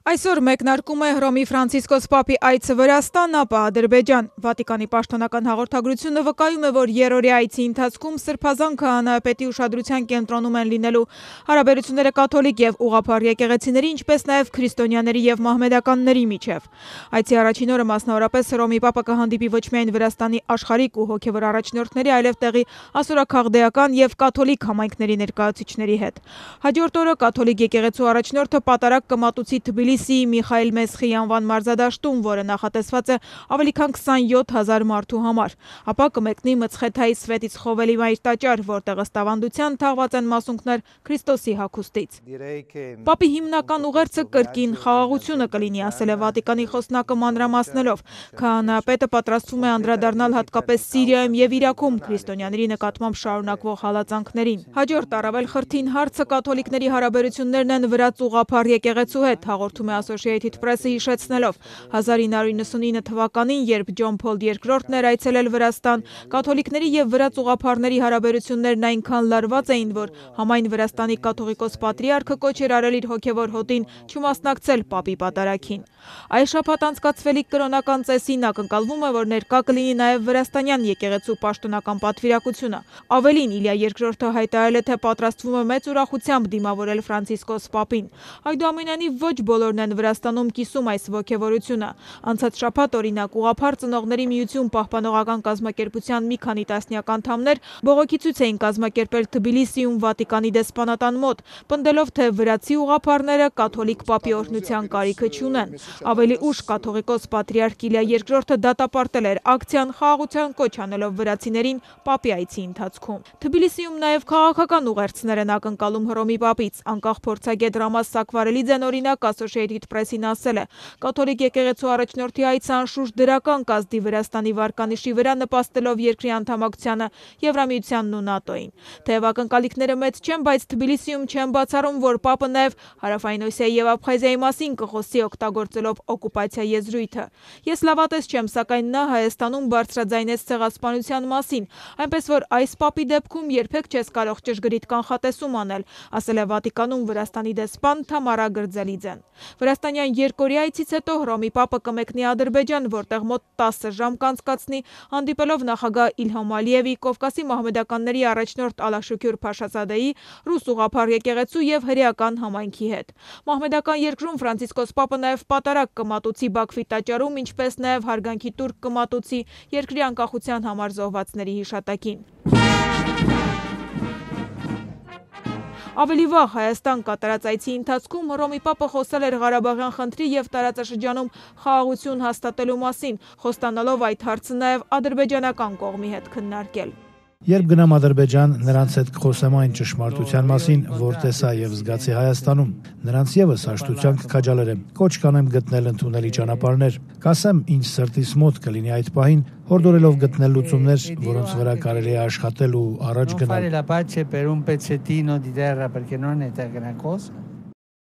Այսօր մեկնարկում է Հռոմի Ֆրանցիսկոս Պապի այցը Վրաստան, ապա Ադրբեջան։ Վատիկանի պաշտոնական հաղորդագրությունը վկայում է, որ երրորդի այցի ընթացքում սրբազան քահանայապետի ուշադրության կենտրոնում են լինելու հարաբերությունները կաթոլիկ եւ ուղղափառ եկեղեցիների, ինչպես նաեւ քրիստոնյաների եւ մահմեդականների միջեւ։ Այցի առաջին օրը մասնավորապես Հռոմի Պապը կհանդիպի ոչ միայն Վրաստանի աշխարհիկ ու հոգեվոր առաջնորդների, այլև տեղի ասորաքաղդեական եւ կաթոլիկ համայնքների ներկայացուցիչների հետ։ Հաջորդ օրը կաթոլիկ եկեղեցու առաջնորդը պատարակ կմատուցի Թբիլիսիի Միխայիլ Մեսխի անվան մարզադաշտում, որը նախատեսված է ավելի քան 27,000 մարդու համար, ապա կմեկնի Մցխեթայի Սվետից Խովելի մայր տաճար, որտեղ ըստ ավանդության թաղված են մասունքներ Քրիստոսի հագուստից։ Պապի հիմնական ուղերձը կրկին խաղաղությունը կլինի, ասել է Վատիկանի խոսնակը մանրամասնելով։ Քահանայապետը պատրաստվում է անդրադառնալ հատկապես Սիրիայում եւ Իրաքում քրիստոնյաների նկատմամբ շարունակվող հալածանքներին։ Հաջորդ առավել խրթին հարցը կաթոլիկների հարաբերություններն են վրաց ուղղափառ եկեղեցու հետ, հաղորդում է Associated Press-ը հիշեցնելով 1999 թվականին, երբ Ջոն Փոլ II-ն էր այցելել Վրաստան, կաթոլիկների եւ վրաց ուղղափառների հարաբերություններն այնքան լարված էին, որ համայն Վրաստանի կաթողիկոս պատրիարքը կոչ էր արել իր հոգեվոր հոտին չմասնակցել Պապի պատարագին։ Այս շաբաթ անցկացվելիք կրոնական ծեսին ակնկալվում է, որ ներկա կլինի նաև վրաստանյան եկեղեցու պաշտոնական պատվիրակությունը։ Ավելին, Իլիա II-ը հայտարարել է, թե պատրաստվում է մեծ ուրախությամբ դիմավորել Ֆրանցիսկոս Պապին։ Այնուամենայնիվ ոչ բոլորն են Վրաստանում կիսում այս ոգևորությունը։ Անցած շաբաթ, օրինակ, ուղղափառ ծնողների միություն պահպանողական կազմակերպության մի քանի տասնյակ անդամներ բողոքի ցույց էին կազմակերպել Թբիլիսիում Վատիկանի դեսպանատան մոտ, պնդելով, թե վրացի ուղղափառները կաթոլիկ Պապի օրհնության կարիքը չունեն։ Ավելի ուշ կաթողիկոս պատրիարք Իլիա II-ը դատապարտել էր ակցիան, խաղաղության կոչ անելով վրացիներին Պապի այցի ընթացքում։ Թբիլիսիում նաև քաղաքական ուղերձներ են ակնկալում Հռոմի Պապից։ Անկախ փորձագետ Ռամաս Սակվարելիձեն, օրինակ, Associated Press-ին ասել է. կաթոլիկ եկեղեցու առաջնորդի այցը անշուշտ դրական կազդի Վրաստանի վարկանիշի վրա, նպաստելով երկրի անդամակցությանը Եվրամիությանն ու ՆԱՏՕ-ին։ Թեև ակնկալիքները մեծ չեն, բայց Թբիլիսիում չեն բացառում, որ Պապը նաև Հարավային Օսիայի եւ Աբխազիայի մասին կխոսի օգտագործելով օկուպացիա եզրույթը։ Ես լավատես չեմ, սակայն նա Հայաստանում բարձրաձայնեց ցեղասպանության մասին, այնպես որ այս Պապի դեպքում երբեք չես կարող ճշգրիտ կանխատեսում անել, ասել է Վատիկանում Վրաստանի դեսպան Թամարա Գրձելիձեն։ Վրաստանյան երկօրյա այցից հետո Հռոմի Պապը կմեկնի Ադրբեջան, որտեղ մոտ 10 ժամ կանցկացնի, հանդիպելով նախագահ Իլհամ Ալիևի, Կովկասի մահմեդականների առաջնորդ Ալաշուքյուր Փաշազադեի, ռուս ուղղափառ եկեղեցու եւ հրեական համայնքի հետ։ Մահմեդական երկրում Ֆրանցիսկոս Պապը նաև պատարակ կմատուցի Բաքվի տաճարում, ինչպես նաև հարգանքի տուրք կմատուցի երկրի անկախության համար զոհվածների հիշատակին։ Ավելի վաղ Հայաստան կատարած այցի ընթացքում Հռոմի Պապը խոսել էր Ղարաբաղյան խնդրի եւ տարածաշրջանում խաղաղություն հաստատելու մասին, խոստանալով այդ հարցը նաև ադրբեջանական կողմի հետ քննարկել։ Երբ գնամ Ադրբեջան, նրանց հետ կխոսեմ այն ճշմարտության մասին, որ տեսա եւ զգացի Հայաստանում։ Նրանց եւս հաշտության կքաջալերեմ, կոչ կանեմ գտնել ընդունելի ճանապարհներ, կասեմ ինչ սրտիս մոտ կլինի այդ պահին, հորդորելով գտնել լուծումներ, որոնց վրա կարելի է աշխատել ու առաջ գնալ։